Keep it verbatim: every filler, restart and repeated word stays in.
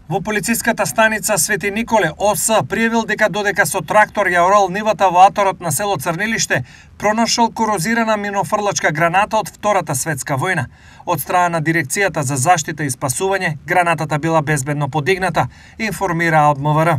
Во полициската станица Свети Николе, О С пријавил дека додека со трактор ја орал нивата во аторот на село Црнилиште, пронашол корозирана минофрлачка граната од Втората светска војна. Од страна на Дирекцијата за заштита и спасување, гранатата била безбедно подигната, информира од М В Р.